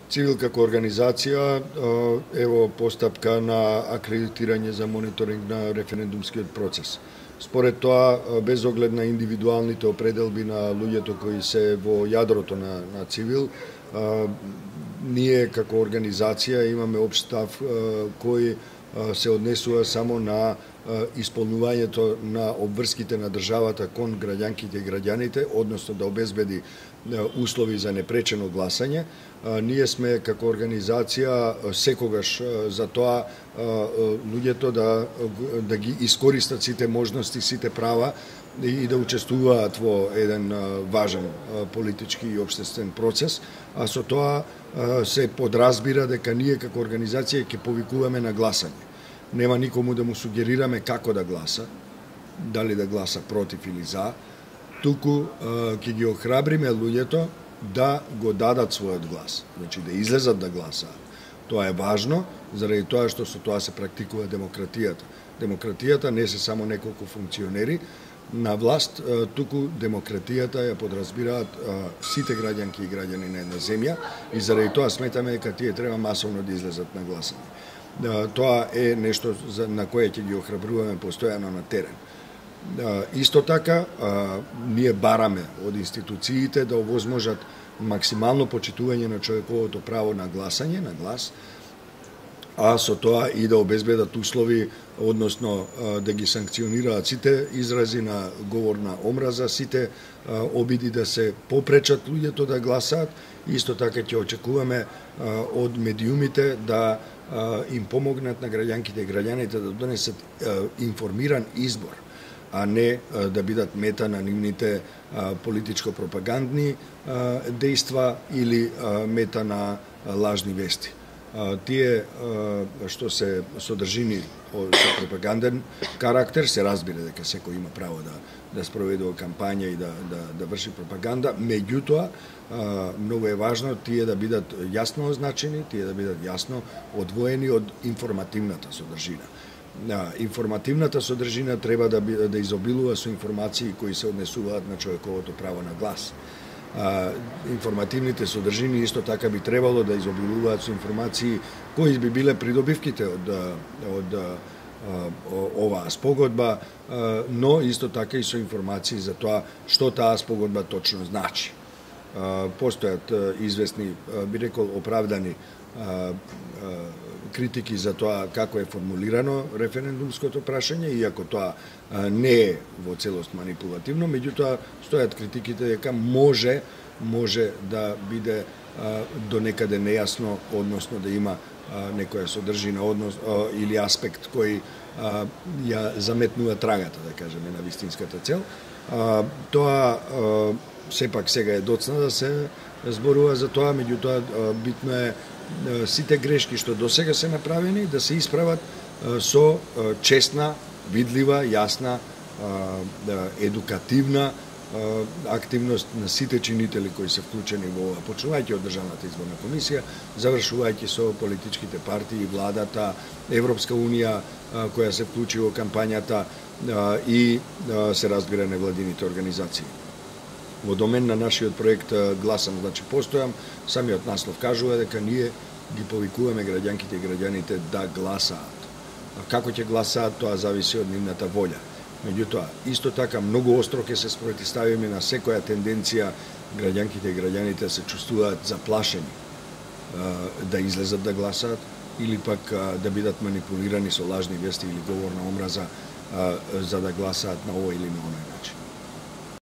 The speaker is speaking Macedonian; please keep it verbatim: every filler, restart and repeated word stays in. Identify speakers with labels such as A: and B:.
A: Цивил како организација ево постапка на акредитирање за мониторинг на референдумскиот процес. Според тоа, без оглед на индивидуалните определби на луѓето кои се во јадрото на, на Цивил, ние како организација имаме општ став кој се однесува само на исполнувањето на обврските на државата кон граѓанките и граѓаните, односно да обезбеди услови за непречено гласање. Ние сме како организација секогаш за тоа луѓето да, да ги искористат сите можности, сите права и да учествуваат во еден важен политички и општествен процес, а со тоа се подразбира дека ние како организација ќе повикуваме на гласање. Нема никому да му сугерираме како да гласа, дали да гласа против или за, туку ќе ги охрабриме луѓето да го дадат својот глас, значи да излезат да гласаат. Тоа е важно, заради тоа што со тоа се практикува демократијата. Демократијата не се само неколку функционери на власт, туку демократијата ја подразбираат сите граѓанки и граѓани на една земја и заради тоа сметаме дека тие треба масовно да излезат на гласање. Тоа е нешто на кое ќе ги охрабруваме постојано на терен. Исто така, ние бараме од институциите да овозможат максимално почитување на човековото право на гласање, на глас, а со тоа и да обезбедат услови, односно да ги санкционираат сите изрази на говор на омраза, сите обиди да се попречат луѓето да гласаат. Исто така ќе очекуваме од медиумите да им помогнат на граѓанките и граѓаните да донесат информиран избор, а не да бидат мета на нивните политичко-пропагандни дејства или мета на лажни вести. Тие што се содржини со пропаганден карактер, се разбира дека секој има право да да спроведува кампања и да да да врши пропаганда, меѓутоа многу е важно тие да бидат јасно означени, тие да бидат јасно одвоени од информативната содржина. Информативната содржина треба да да изобилува со информации кои се однесуваат на човековото право на глас. Информативните содржини исто така би требало да изобилуваат со информации кои би биле придобивките од од оваа спогодба, но исто така и со информации за тоа што таа спогодба точно значи. Постојат известни, би рекол, оправдани критики за тоа како е формулирано референдумското прашање, иако тоа не е во целост манипулативно, меѓутоа стојат критиките дека може може да биде до некаде нејасно, односно да има некоја содржина однос или аспект кој ја заметнува трагата, да кажеме, на вистинската цел. Тоа сепак сега е доцна да се зборува за тоа, меѓутоа битно е сите грешки што досега се направени да се исправат со честна, видлива, јасна, едукативна активност на сите чинители кои се вклучени во ова, почнувајќи од Државната изборна комисија, завршувајќи со политичките партии, владата, Европска унија која се вклучи во кампањата и се разбира невладините организации. Во домен на нашиот проект Гласам, значи постојам, самиот наслов кажува дека ние ги повикуваме граѓанките и граѓаните да гласаат. Како ќе гласаат, тоа зависи од нивната волја. Меѓутоа, исто така многу остро ќе се спротивставиме на секоја тенденција граѓанките и граѓаните се чувствуваат заплашени да излезат да гласаат или пак да бидат манипулирани со лажни вести или говор на омраза за да гласаат на овој или на оној начин.